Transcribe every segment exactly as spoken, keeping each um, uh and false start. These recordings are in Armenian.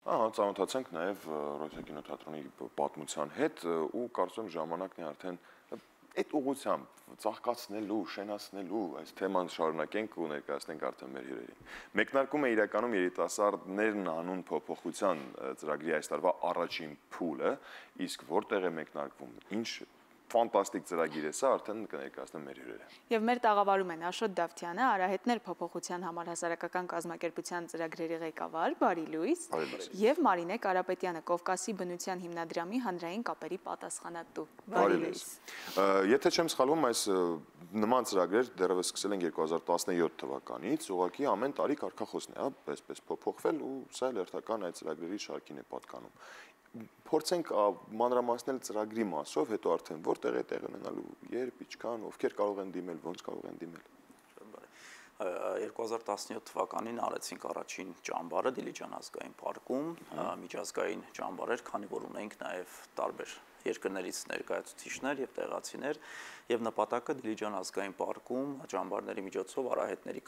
Ահա, ծանոթացանք նաև Ռոսիա կինոթատրոնի պատմության հետ ու կարծում եմ ժամանակն է արդեն այդ ուղղությամբ ծաղկացնելու, շենացնելու այս թեման շարունակենք ու ներկայացնենք արդեն մեր հյուրերին։ Մեկնարկում է իրականում երիտասարդներն անուն փոփոխության ծրագրի այս տարվա առաջին փուլը, իսկ որտեղ է մեկնարկվում, ինչ ֆանտաստիկ ծրագիր է սա, արդեն կներկայացնեմ մեր հյուրերը։ Եվ մեր տաղավարում են Աշոտ Դավթյանը, Արահետներ փոփոխության համար հասարակական կազմակերպության ծրագրերի ղեկավար, բարի լույս, եւ Մարինե Կարապետյանը, Կովկասի բնության հիմնադրամի հանրային կապերի պատասխանատու, բարի լույս։ Եթե չեմ սխալվում, այս նման ծրագրեր դեռևս սկսել են երկու հազար տասնյոթ թվականից, ուղղակի ամեն տարի կարգախոսն է, այսպես փոփոխվել ու սա էլ հերթական այդ ծրագրերի շարքին է պատկանում։ Փորձենք մանրամասնել ծրագրի մասով, հետո արդեն որտեղ է տեղ ունենալու, երբ, ինչքան, ովքեր կարող են դիմել, ոնց կարող են դիմել։ երկու հազար տասնյոթ թվականին արեցինք առաջին ճամբարը Դիլիջան ազգային պարկում, միջազգային ճամբար էր, քանի որ ունենք նաև տարբեր երկրներից ներկայացուցիչներ եւ տեղացիներ եւ նպատակը Դիլիջան ազգային պարկում ճամբարների միջոցով արահետների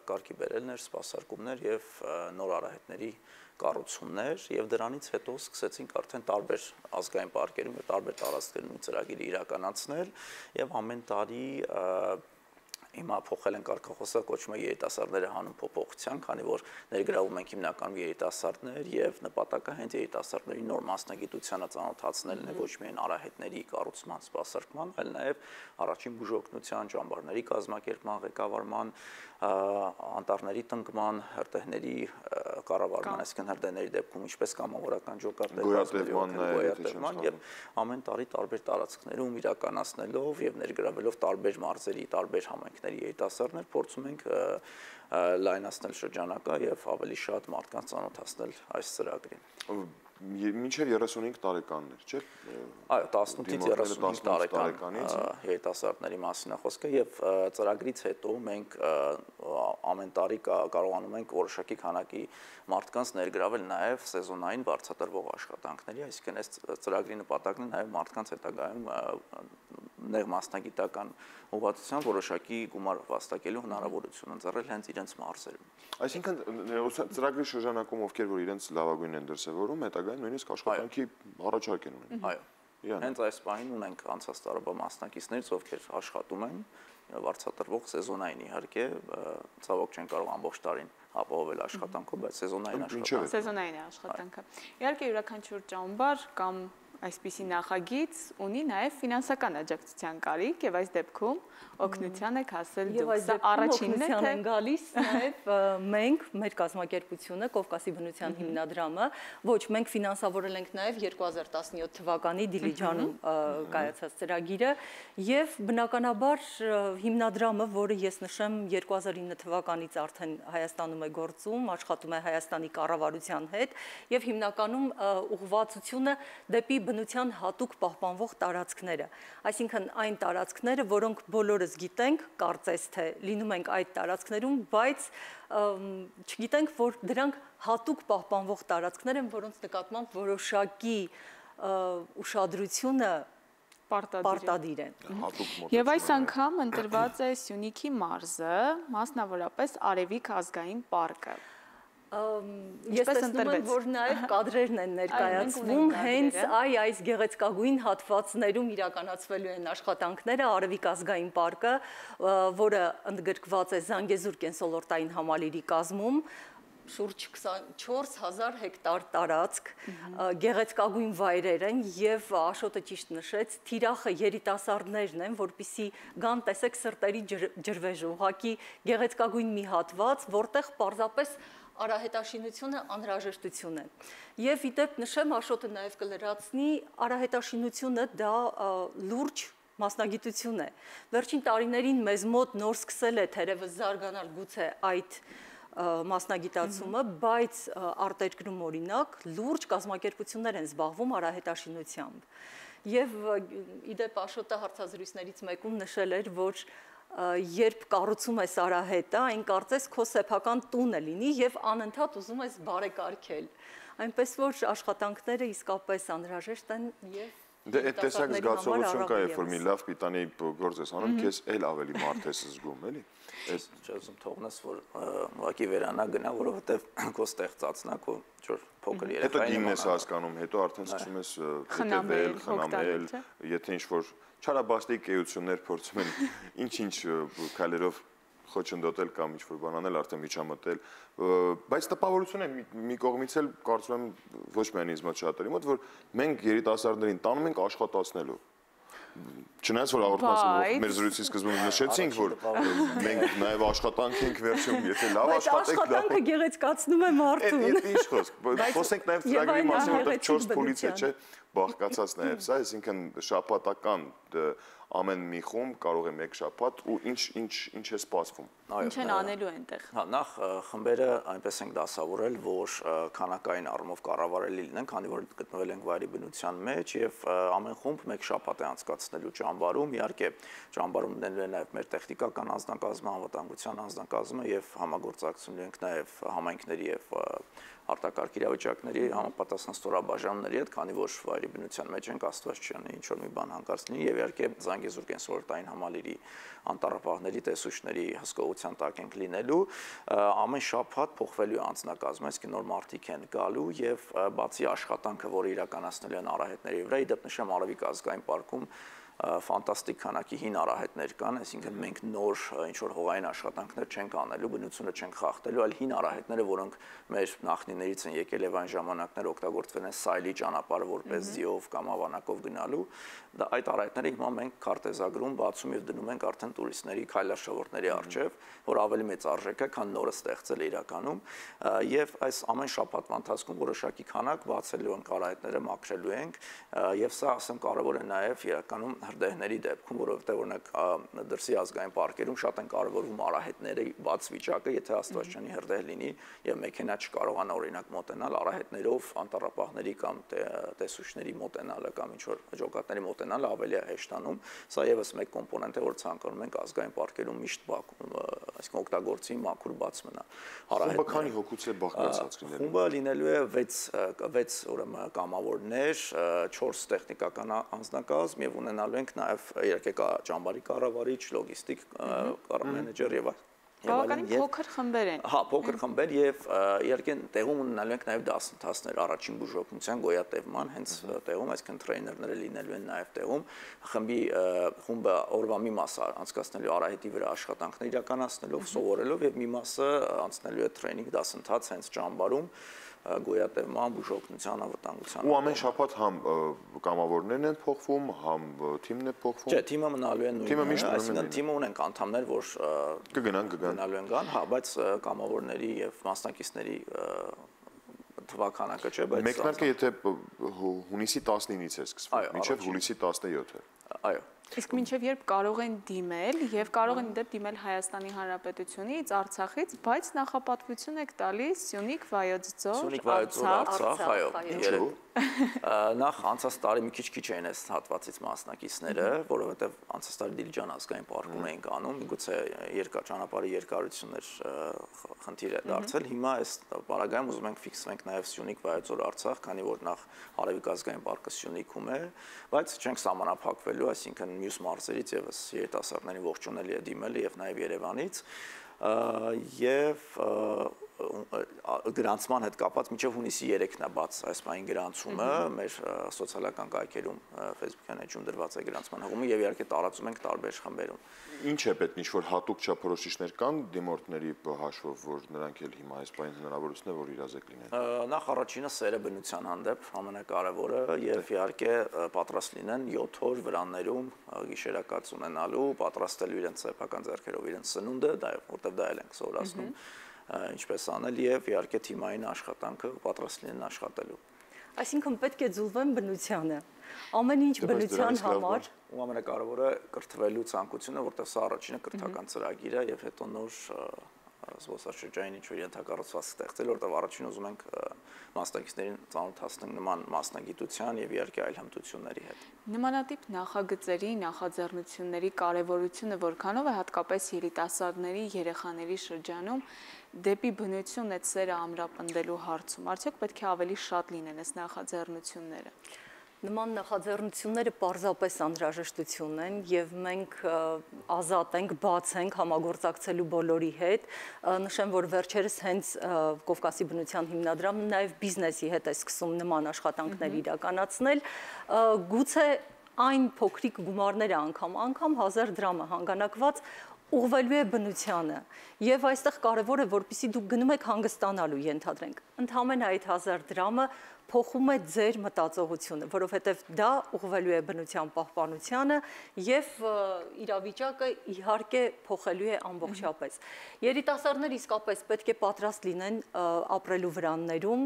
կարգի բերելն էր, սպասարկումներ եւ նոր արահետների կառուցումներ եւ դրանից հետո սկսեցինք արդեն տարբեր ազգային պարկերում եւ տարբեր տարածքներում ծրագիր իրականացնել եւ ամեն տարի Հիմա փոխել են կարգախոսը, կոչվում է երիտասարդները հանուն փոփոխության, քանի որ ներգրավում ենք հիմնականում երիտասարդներ եւ նպատակը հենց երիտասարդների նոր մասնագիտությանը ծանոթացնելն է, ոչ միայն արահետների կառուցման, սպասարկման, այլ նաեւ առաջին բուժօգնության, ճամբարների կազմակերպման, ղեկավարման, անտառների տնկման, հրդեհների կառավարման, այսինքն հրդեհների դեպքում ինչպես կամավորական ջոկատների գոյատևման եւ ամեն տարի տարբեր տարածքներում իրականացնելով եւ ներգրավելով տարբեր մարզերի, տարբեր համայնքների երիտասարդներ փորձում ենք լայնացնել շրջանակը եւ ավելի շատ մարդկանց ծանոթացնել այս ծրագրին։ Մինչև երեսունհինգ տարեկաններ, չէ՞։ Այո, տասնութից երեսունհինգ տարեկան երիտասարդների մասին է խոսքը եւ ծրագրից հետո մենք ամեն տարի կարողանում ենք որոշակի քանակի մարդկանց ներգրավել նաեւ սեզոնային բարձրատրվող աշխատանքների, այսինքն այս ծրագրի նպատակն է նաեւ մարդկանց հետագայում նեղ մասնագիտական ուղղվածությամբ որոշակի գումար վաստակելու հնարավորություն ընձեռել հենց իրենց մարզերում։ Այսինքն ծրագրի շրջանակում ովքեր որ իրենց լավագույնն են դրսևորում, հետագայում նույնիսկ աշխատանքի առաջարկ են ունենում։ Այո։ Հենց այս պահին ունենք անցած տարվա մասնակիցներից, ովքեր աշխատում են վարձատրվող սեզոնային իհարկե, ցավոք չեն կարող ամբողջ տարին ապահովել աշխատանքով, բայց սեզոնային աշխատանք։ Սեզոնային աշխատանքը։ Իհարկե յուրաքանչյուր ճամբար կամ այսպիսի նախագիծ ունի նաև ֆինանսական աջակցության կարիք եւ այս դեպքում օգնության եք հասել դուք։ Սա առաջինն է, թե գալիս նաև մենք մեր կազմակերպությունը Կովկասի բնության հիմնադրամը, ոչ, մենք ֆինանսավորել ենք նաև երկու հազար տասնյոթ թվականի Դիլիջանում կայացած ծրագիրը եւ բնականաբար հիմնադրամը, որը ես նշեմ երկու հազար ինը թվականից արդեն Հայաստանում է գործում, աշխատում է Հայաստանի կառավարության հետ եւ հիմնականում ուղղվածությունը դեպի բնության հատուկ պահպանվող տարածքները, այսինքն այն տարածքները, որոնք բոլորս գիտենք, կարծես թե լինում ենք այդ տարածքներում, բայց չգիտենք, որ դրանք հատուկ պահպանվող տարածքներ են, որոնց նկատմամբ որոշակի ուշադրությունը պարտադիր է։ Եվ այս անգամ ընտրված է Սյունիքի մարզը, մասնավորապես Արևիկ ազգային պարկը։ Ես տեսնում եմ, որ նաև կադրերն են ներկայացվում, հենց այ այս գեղեցկագույն հատվածներում իրականացվելու են աշխատանքները, Արևիկ ազգային պարկը, որը ընդգրկված է Զանգեզուր կենսոլորտային համալիրի կազմում, շուրջ քսանչորս հազար հեկտար տարածք, գեղեցկագույն վայրեր են եւ Աշոտը ճիշտ նշեց, թիրախը երիտասարդներն են, որպիսի գան տեսեք սրտերի ջրվեժ, ուղղակի գեղեցկագույն մի հատված, որտեղ պարզապես արահետաշինությունը անհրաժեշտություն է։ Եվ ի դեպ նշեմ, Աշոտը նաև կլրացնի, արահետաշինությունը դա լուրջ մասնագիտություն է։ Վերջին տարիներին մեզ մոտ նոր սկսել է թերևս զարգանալ գուցե այդ մասնագիտացումը, բայց արտերկրում օրինակ լուրջ կազմակերպություններ են զբաղվում արահետաշինությամբ։ Եվ ի դեպ Աշոտը հարցազրույցներից մեկում նշել էր, որ երբ կառուցում ես արահետը, այն կարծես քո սեփական տունը լինի եւ անընդհատ ուզում ես բարեկարգել։ Այնպես որ աշխատանքները իսկապես անհրաժեշտ են եւ Դե այդ տեսակ զգացողություն կա, երբ որ մի լավ պիտանի գործ ես անում, քեզ էլ ավելի մարդ ես զգում, էլի։ Ես չեմ թողնես, որ ուղղակի վերանա գնա, որովհետև քո ստեղծածն է, քո ինչ-որ փոքր երեխային։ Հետո դինն ես հասկանում, հետո արդեն սկսում ես հետևել, խնամել, եթե ինչ-որ չարաբաստիկ էություններ փորձում են ինչ-ինչ քայլերով խոչընդոտել կամ ինչ-որ բան անել, արդեն միջամտել, բայց տպավորություն է մի կողմից էլ կարծում եմ ոչ միայն ինձ մոտ շատերի մոտ, որ մենք երիտասարդներին տանում ենք աշխատացնելու։ Չնայած որ հաղորդման մեր զրույցի սկզբում նշեցինք, որ մենք նաև աշխատանք ենք վերջում, եթե լավ աշխատենք, աշխատանքը գեղեցկացնում է մարդուն։ Այդ ինչ խոսք, խոսենք նաև ծրագրի մասին, որտեղ չորս փուլից է, չէ՞, բաղկացած նաև սա, այսինքն շաբաթական ամեն մի խումբ կարող է մեկ շաբաթ ու ինչ ինչ ինչ է սպասվում։ Ինչ են անելու այնտեղ։ Հա, նախ խմբերը այնպես ենք դասավորել, որ քանակային առումով կառավարելի լինեն, քանի որ գտնվել ենք վայրի բնության մեջ եւ ամեն խումբ մեկ շաբաթ է անցկացնելու ճամբարում, իհարկե ճամբարում լինելու է նաեւ մեր տեխնիկական անձնակազմը, անվտանգության անձնակազմը եւ համագործակցելու ենք նաեւ համայնքների եւ արտակարգ իրավիճակների համապատասխան ստորաբաժանումների հետ, քանի որ վայրի բնության մեջ ենք, Աստված չանի ինչ որ մի բան հանկարծ լինի եւ իհարկե Զանգեզուր կենսոլորտային համալիրի անտառապահների տեսուչների հսկողության տակ ենք լինելու, ամեն շաբաթ փոխվելու է անձնակազմը, այսինքն նոր մարդիկ են գալու եւ բացի աշխատանքը, որը իրականացնելու են արահետների վրա, իդեպ նշեմ Արևիկ ազգային պարկում ֆանտաստիկ քանակի հին արահետներ կան, այսինքն մենք նոր ինչ-որ հողային աշխատանքներ չենք անելու, բնությունը չենք խախտելու, այլ հին արահետները, որոնք մեր նախնիներից են եկել եւ այն ժամանակներ օգտագործվել են սայլի ճանապարհը որպես ձիով կամ ավանակով գնալու, դա այդ արահետները հիմա մենք քարտեզագրում բացում եւ դնում ենք արդեն տուրիստների քայլարշավորդների առջեւ, որ ավելի մեծ արժեք է, քան նորը ստեղծել է իրականում, եւ այս ամեն շաբաթվա ընթացքում որոշակի քանակ բացելու ենք արահետները, մաքրելու ենք, եւ սա ասեմ կարեւոր է նաեւ իրականում հրդեհների դեպքում, որովհետև օրինակ դրսի ազգային պարկերում շատ են կարևորում արահետների բաց վիճակը, եթե Աստված չանի հրդեհ լինի եւ մեքենա չկարողանա օրինակ մոտենալ արահետներով անտառապահների կամ տեսուչների մոտենալը կամ ինչ որ ջոկատների մոտենալը ավելի է հեշտանում, սա եւս մեկ կոմպոնենտ է, որ ցանկանում ենք ազգային պարկերում միշտ բակում, այսինքն օգտագործի մաքուր բաց մնա։ Խումբը քանի հոգուց է բաղկացած լինելու։ Խումբը լինելու է վեց ուրեմն կամավորներ, չորս տեխնիկական անձնակազմ եւ ունենալու ենք նաև իհարկե կա ճամբարի կառավարիչ, լոգիստիկ մենեջեր եւ Բավականին փոքր խմբեր են։ Հա, փոքր խմբեր եւ իհարկե տեղում ունենալու ենք նաև դասընթացներ առաջին բուժօգնության գոյատևման, հենց տեղում, այսինքն տրեյներները լինելու են նաև տեղում։ Խմբի խումբը օրվա մի մասը անցկացնելու արահետի վրա աշխատանքներ իրականացնելով, սովորելով եւ մի մասը անցնելու է տրեյնինգ դասընթաց հենց ճամբարում գոյատևման, բուժօգնության, անվտանգության։ Ու ամեն շաբաթ համ կամավորներն են փոխվում, համ թիմն է փոխվում։ Չէ, թիմը մնալու է նույնը, այսինքն թիմը ունենք անդամներ, որ կգնան, կգան։ Գնալու են գան, հա, բայց կամավորների եւ մասնակիցների թվականակը չէ, բայց մեկնարկը եթե հունիսի տասնինից է սկսվում, մինչև հուլիսի տասնյոթը։ Այո։ Իսկ մինչև երբ կարող են դիմել եւ կարող են դեպ դիմել Հայաստանի Հանրապետությունից, Արցախից, բայց նախապատվություն եք տալիս Սյունիք, Վայոց Ձոր, Սյունիք, Վայոց Ձոր, Արցախ, այո, երեք։ Նախ անցած տարի մի քիչ-քիչ էին այս հատվածից մասնակիցները, որովհետեւ անցած տարի Դիլիջան ազգային պարկում էինք անում, միգուցե երկար ճանապարհի երկարություններ խնդիր է դարձել։ Հիմա այս պարագայում ուզում ենք ֆիքսվենք նաեւ Սյունիք, Վայոց Ձոր, Արցախ, քանի որ նախ Արևիկ ազգային պարկը Սյունիքում է, բայց չենք սահմանափակվելու, այսինքն մյուս մարզերից եւս երիտասարդներին ողջունելի է դիմել եւ նաեւ Երևանից եւ գրանցման հետ կապված մինչև հունիսի երեքն է բաց այս բանի գրանցումը մեր սոցիալական կայքերում Facebook-յան էջում դրված է գրանցման հղումը եւ իհարկե տարածում ենք տարբեր խմբերում։ Ինչ է պետք, ինչ որ հատուկ չափորոշիչներ կան դիմորդների հաշվով, որ նրանք էլ հիմա այս բանի հնարավորություն է, որ իրազեկ լինեն։ Նախ առաջինը սերը բնության հանդեպ ամենակարևորը եւ իհարկե պատրաստ լինեն յոթ օր վրաններում գիշերակաց ունենալու, պատրաստելու իրենց սեփական ձեռքերով իրենց սնունդը, դա որտեվ դա էլ ենք սովորացնում ինչպես անել եւ իհարկե թիմային աշխատանքը պատրաստ լինեն աշխատելու։ Այսինքն պետք է ձուլվեն բնությանը։ Ամեն ինչ բնության համար ու ամենակարևորը կրթվելու ցանկությունը, որտեղ սա առաջինը կրթական ծրագիր է եւ հետո նոր զբոսաշրջային ինչ-որ ենթակառուցվածք ստեղծել, որտեղ առաջին ուզում ենք մասնակիցներին ծանոթացնել նման մասնագիտության եւ իհարկե այլ հմտությունների հետ։ Նմանատիպ նախագծերի, նախաձեռնությունների կարևորությունը որքանով է հատկապես երիտասարդների, երեխաների շրջանում դեպի բնություն այդ սերը ամրապնդելու հարցում։ Արդյոք պետք է ավելի շատ լինեն այս նախաձեռնությունները։ Նման նախաձեռնությունները պարզապես անհրաժեշտություն են եւ մենք ազատ ենք, բաց ենք համագործակցելու բոլորի հետ։ Նշեմ, որ վերջերս հենց Կովկասի բնության հիմնադրամը նաեւ բիզնեսի հետ է սկսում նման աշխատանքներ իրականացնել։ Գուցե այն փոքրիկ գումարները անգամ, անգամ հազար դրամը հանգանակված ուղղվելու է բնությանը եւ այստեղ կարեւոր է, որպեսզի դուք գնում եք հանգստանալու, ենթադրենք։ Ընդհանրապես այդ հազար դրամը փոխում է ձեր մտածողությունը, որովհետև դա ուղղվելու է բնության պահպանությանը եւ իրավիճակը իհարկե փոխելու է ամբողջապես։ Երիտասարդները իսկապես պետք է պատրաստ լինեն ապրելու վրաններում,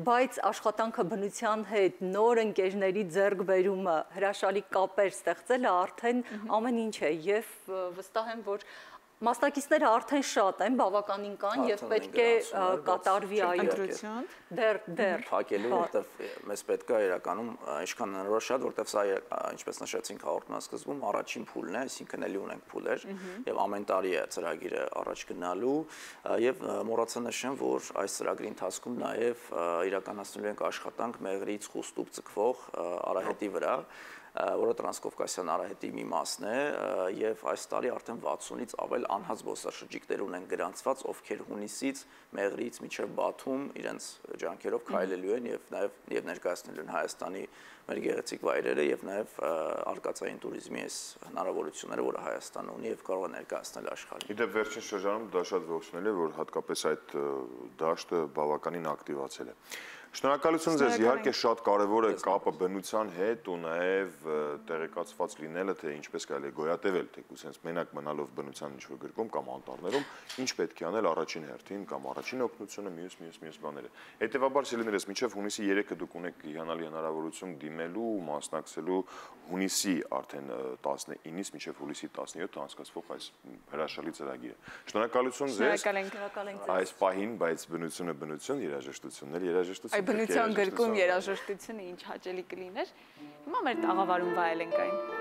բայց աշխատանքը բնության հետ, նոր ընկերների ձեռքբերումը, հրաշալի կապեր ստեղծելը արդեն ամեն ինչ է եւ վստահ եմ, որ մասնակիցները արդեն շատ են, բավականին կան եւ պետք է կատարվի այո դեռ դեռ փակելու, որտեվ մեզ պետք է իրականում ինչքան հնարավոր շատ, որտեվ սա ինչպես նշեցինք հաղորդման սկզբում առաջին փուլն է, այսինքն էլի ունենք փուլեր եւ ամեն տարի է ծրագիրը առաջ գնալու եւ մոռացա նշեմ, որ այս ծրագրի ընթացքում նաեւ իրականացնելու ենք աշխատանք մեղրից խուստուկ ձգվող արահետի վրա, որը տրանսկովկասյան արահետի մի մասն է եւ այս տարի արդեն վաթսունից ավել անհատ զբոսաշրջիկներ ունեն գրանցված, ովքեր հունիսից Մեղրիից մինչեւ Բաթում իրենց ջանքերով քայլելու են եւ նաեւ եւ ներկայացնելու են Հայաստանի մեր գեղեցիկ վայրերը եւ նաեւ արկածային туриզմի այս հնարավորությունները, որը Հայաստանը ունի եւ կարող է ներկայացնել աշխարհին։ Իդեպ վերջին շրջանում դա շատ ողջունել է, որ հատկապես այդ դաշտը բավականին ակտիվացել է։ Շնորհակալություն ձեզ, իհարկե շատ կարևոր է կապը բնության հետ ու նաև տեղեկացված լինելը, թե ինչպես կարելի է գոյատևել, թեկուզ հենց մենակ մնալով բնության ինչ-որ գրկում կամ անտառներում, ինչ պետք է անել առաջին հերթին կամ առաջին օգնությունը, մյուս մյուս մյուս բաները։ Հետևաբար սիրելիներս, մինչև հունիսի երեքը դուք ունեք հիանալի հնարավորություն դիմելու, մասնակցելու հունիսի արդեն տասնինից մինչև հուլիսի տասնյոթը անցկացվող այս հրաշալի ծրագիրը։ Շնորհակալություն ձեզ։ Այս պահին, բայց բնությունը բնություն, երաժշտությունն էլ երաժշտություն։ Բնության գրկում երաժշտությունը ինչ հաճելի կլիներ։ Հիմա մեր տաղավարում վայելենք այն։